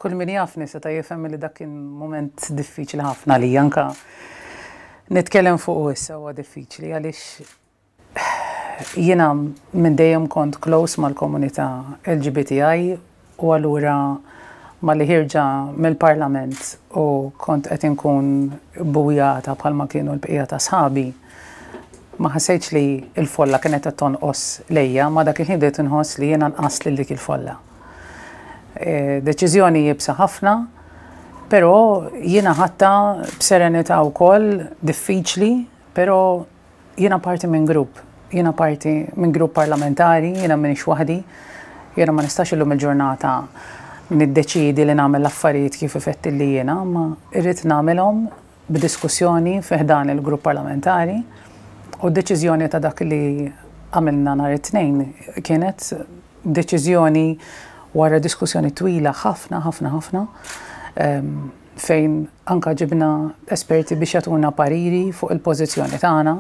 Kull min jafni seta' jifhem li dak kien mument diffiċli ħafna għalija, anke nitkellem fuqu issa huwa diffiċli għaliex jiena minn dejjem kont close mal-komunità LGBTI u allura malli ħierġa mill-Parlament u kont qed inkun bujata bħalma kienu l-bqija ta' sħabi, ma ħassejtx li l-folla kienet qed tonqos lejja, ma dak il-ħin bdejt inħoss li jiena nqast lil dik il-folla. Deċiżjoni iebsa ħafna, però jiena ħadtha b'serenità wkoll, diffiċli, però jiena parti minn grupp, jiena parti minn grupp parlamentari, jiena m'iniex waħdi, jiena ma nistax illum il-ġurnata niddeċiedi li nagħmel l-affarijiet kif ifettilli jiena, imma rrid nagħmilhom b'diskussjoni fi ħdan il-grupp parlamentari u d-deċiżjoni ta' dak li għamilna nhar it-Tnejn kienet deċiżjoni wara diskussjoni twila ħafna ħafna ħafna fejn anka ġibna esperti biex jagħtuna pariri fuq il-pożizzjoni tagħna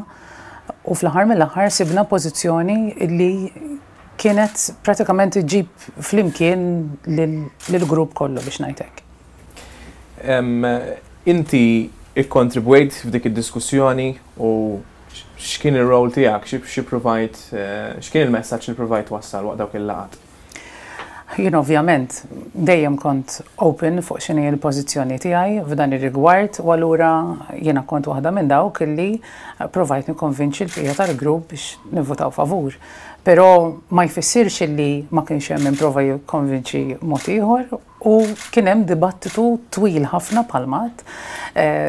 u fl-aħħar mill-aħħar sibna pożizzjoni li kienet pratikament iġġib flimkien lill-grupp kollu biex ngħid hekk. Inti ikkontribwejt f'dik id-diskussjoni u x'kien ir-rol tiegħek, xi provajt, x'kien il-messaġġ li provajt twassal waqt dawk il-laqgħat? Jien ovvjament dejjem kont open fuq x'inhi l-pożizzjoni tiegħi f'dan ir-rigward u allura jiena kont waħda minn dawk li provajt nikkonvinċi l-bqija tal-grupp biex nivvutaw favur. Però ma jfissirx illi ma kienx hemm min prova jikkonvinċi mod ieħor U kien hemm dibattitu twil ħafna bħalma għedt,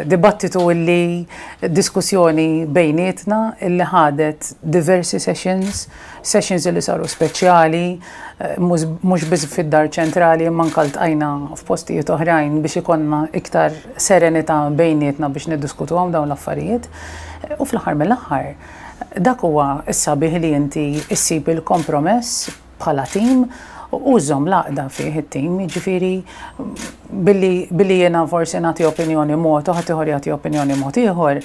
dibattitu illi diskussjoni bejnietna illi ħadet diversi sessions, sessions illi saru speċjali, mhux biss fid-Dar Ċentrali imma anke ltqajna f'postijiet oħrajn biex ikollna iktar serenità bejnietna biex niddiskutuhom dawn l-affarijiet. U fl-aħħar mill-aħħar, dak huwa s-sabiħ li inti ssib il-kompromess bħala tim u żżomm l-għaqda fih it-tim, jiġifieri billi billi jiena forsi nagħti opinjoni mod u ħaddieħor jagħti opinjoni mod ieħor,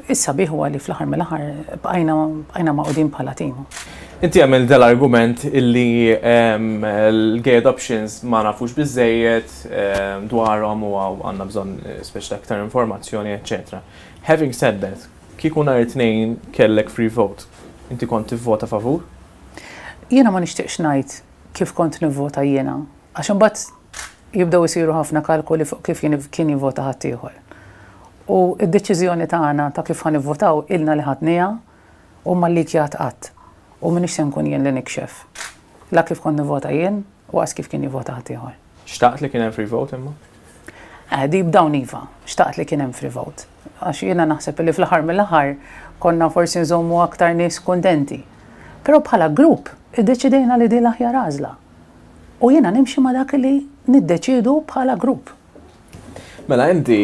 is-sabiħ huwa li fl-aħħar mill-aħħar bqajna bqajna magħqudin bħala tim. Inti għamilt dal-argument illi l-gay adoptions ma nafux biżżejjed dwarhom u għandna bżonn speċi ta' iktar informazzjoni, eċċetera. Having said that, kieku nhar it-Tnejn kellek free vote, inti kont tivvota favur? Jiena ma nixtieqx ngħid kif kont nivvota jiena, għax imbagħad jibdew isiru ħafna kalkoli fuq kif kien jivvota ħaddieħor. U d-deċiżjoni tagħna ta' kif ħa nivvotaw ilna li ħadniha u ma llikjat qatt. U m'iniex se nkun jien li nikxef la kif kont nivvota jien u qas kif kien jivvota ħaddieħor. Xtaqt li kien hemm free vote imma? Eh, deep down iva, xtaqt li kien hemm free vote. Għax jiena naħseb li fl-aħħar mill-aħħar konna forsi nżommu aktar nies kuntenti. Però bħala grupp iddeċidejna li din l-aħjar għażla. U jiena nimxi ma' dak li niddeċiedu bħala grupp. Mela inti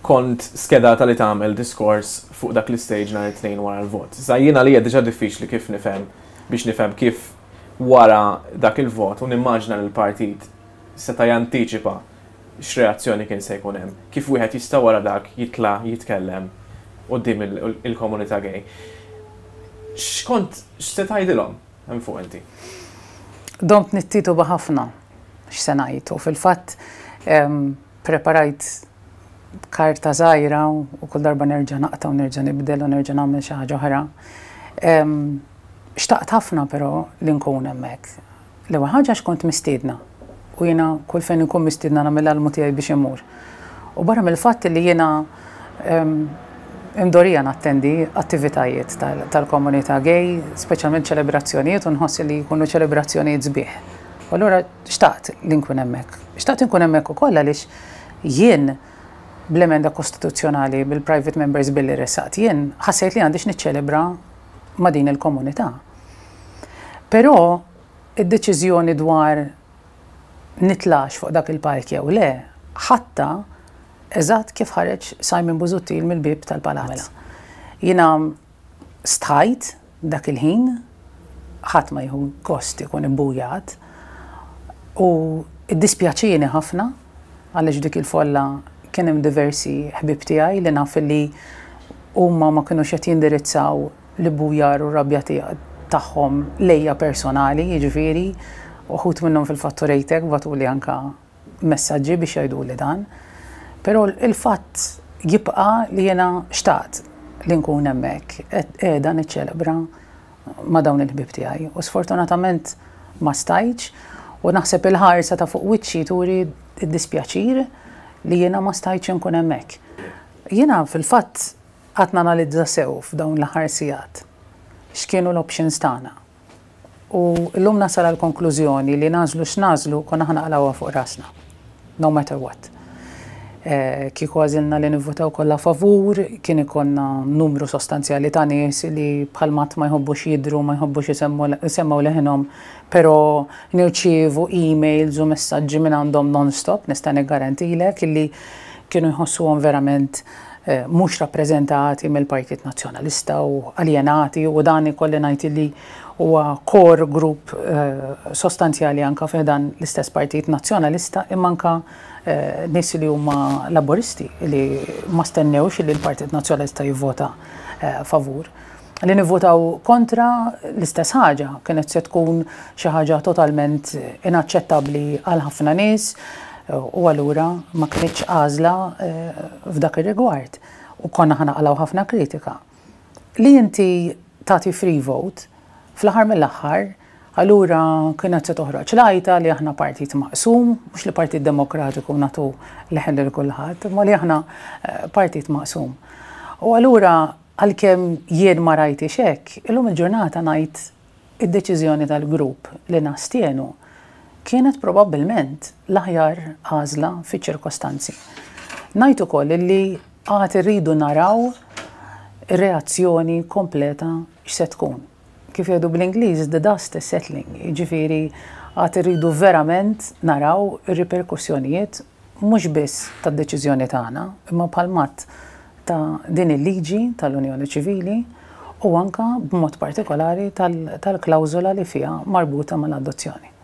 kont skedata li tagħmel diskors fuq dak l-istage nhar it-Tnejn wara l-vot. Issa jien għalija diġà diffiċli kif nifhem biex nifhem kif wara dak il-vot u nimmaġina li l-partit seta' jantiċipa x'reazzjoni kien se jkun hemm, kif wieħed jista' wara dak jitla' jitkellem quddiem il-komunità gay. X'kont x'se tgħidilhom hemm fuq inti? Domt nittituba ħafna x'se ngħid u fil-fatt preparajt karta żgħira u kull darba nerġa' naqta' u nerġa' nibdel u nerġa' nagħmel xi ħaġa oħra. Xtaqt ħafna però li nkun hemmhekk. L-ewwel ħaġa għax kont mistiedna u jiena kull fejn inkun mistiedna nagħmel l-almu tiegħi biex immur. U barra mill-fatt li jiena imdorrija nattendi attivitajiet tal-komunità gay, speċjalment ċelebrazzjonijiet u nħoss li jkunu ċelebrazzjonijiet sbieħ. U allura xtaqt li nkun hemmhekk. Xtaqt inkun hemmhekk ukoll għaliex jien bl-emenda kostituzzjonali bil-Private Members Bill li ressaqt jien ħassejt li għandi x'niċċelebra ma' din il-komunità. Però id-deċiżjoni dwar nitlax fuq dak il-palk jew le ħadtha eżatt kif ħareġ Simon Busuttil mill-bieb tal-palazz. Jiena stħajt dak il-ħin, ħadd ma jieħu gost ikun ibbujat u ddispjaċieni ħafna għaliex f'dik il-folla kien hemm diversi ħbieb tiegħi li naf li huma ma kinux qed jindirizzaw l-ibbujar u r-rabja tagħhom lejja personali, jiġifieri, uħud minnhom fil-fatt urejtek bagħtuli anke messaġġi biex jgħiduli dan. Però il-fatt jibqa' li jiena xtaqt li nkun hemmhekk qiegħda niċċelebra ma' dawn il-ħbieb tiegħi u sfortunatament ma stajtx u naħseb il-ħarsa ta' fuq wiċċi turi d-dispjaċir li jiena ma stajtx inkun hemmhekk. Jiena fil-fatt qgħadt nanalizza sew f'dawn l-aħħar sigħat x'kienu l-options tagħna. U llum nasal għall-konklużjoni li nagħżlu x'nagħżlu konna ħa naqlgħuha fuq rasna. No matter what. Kieku għażilna li nivvutaw kollha favur, kien ikollna numru sostanzjali ta' nies li bħal mat ma jħobbux jidhru, ma jħobbux isemmgħu leħinhom, però nirċievu emails u messaġġi minn għandhom non-stop, nista' niggarantilek illi kienu jħossuhom verament mhux rappreżentati mill-Partit Nazzjonalista u aljenati u dan ikolli ngħid illi huwa core group sostanzjali anka fi dan l-istess Partit Nazzjonalista imma anka nies li huma Laburisti li ma stennewx li l-Partit Nazzjonalista jivvota favur. Li nivvotaw kontra l-istess ħaġa kienet se tkun xi ħaġa totalment inaċċettabbli għal ħafna nies u allura ma kinitx għażla f'dak ir-rigward u konna ħa naqalgħu ħafna kritika. Li inti tagħti free vote fl-aħħar mill-aħħar allura kienet se toħroġ l-għajta li aħna partit maqsum, mhux li Partit Demokratiku nagħtu leħen lil kulħadd, imma li aħna partit maqsum. U allura għalkemm jien ma rajtix hekk, illum il-ġurnata ngħid id-deċiżjoni tal-grupp li nastienu kienet probabbilment l-aħjar għażla fiċ-ċirkostanzi. Ngħid ukoll li għad irridu naraw ir-reazzjoni kompleta x'se tkun. Kif jgħidu bl-Ingliż, the dust is settling, jiġifieri għad irridu verament naraw ir-riperkussjonijiet mhux biss tad-deċiżjoni tagħna, imma bħal mat ta' din il-liġi tal-Unjoni Ċivili u anka b'mod partikolari tal-klawżola li fiha marbuta mal-adozzjoni.